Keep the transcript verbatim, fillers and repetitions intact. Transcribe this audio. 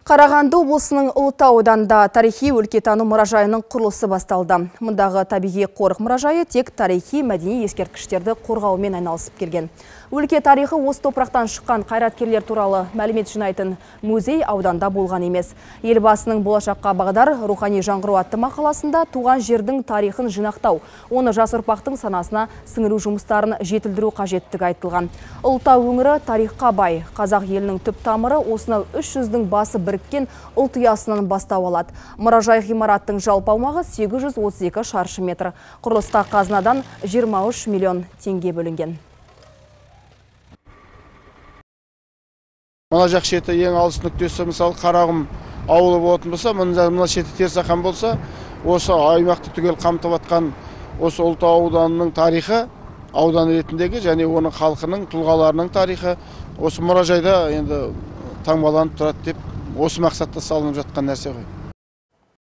Қарағанды облысының Ұлытау ауданында тарихи өлкетану мұражайының құрылысы басталды. Мұндағы табиғи қорық мұражайы тек тарихи мәдени ескерткіштерді қорғаумен айналысып келген. Өлке тарихы осы топырақтан шыққан қайраткерлер туралы мәлімет жинайтын музей ауданда болған емес. Елбасының болашаққа бағдар рухани жаңғыру атты мақаласында туған жердің тарихын жинақтау, оны жас ұрпақтың санасына сіңіру жұмыстарын жетілдіру қажеттігі айтылған. Ұлытау өңірі тарихқа бай. Қазақ елінің түп тамыры осынау үш жүздің басы біріккен ұлт ұясынан бастау алады. Мұражай ғимараттың жалпы аумағы сегіз жүз отыз екі шаршы метр. Құрылысқа қазынадан жиырма үш миллион теңге бөлінген. Мына жақ шеті ең алыс нүктесі, мысалы Қарағым ауылы болатын болса, мына шеті Терсақан болса, осы аймақты түгел қамтып атқан осы Ұлытау ауданының тарихы, аудан ретіндегі және оның халқының, тұлғаларының тарихы осы мұражайда енді таңбаланып тұрады деп осы мақсатта салынып жатқан нәрсе ғой.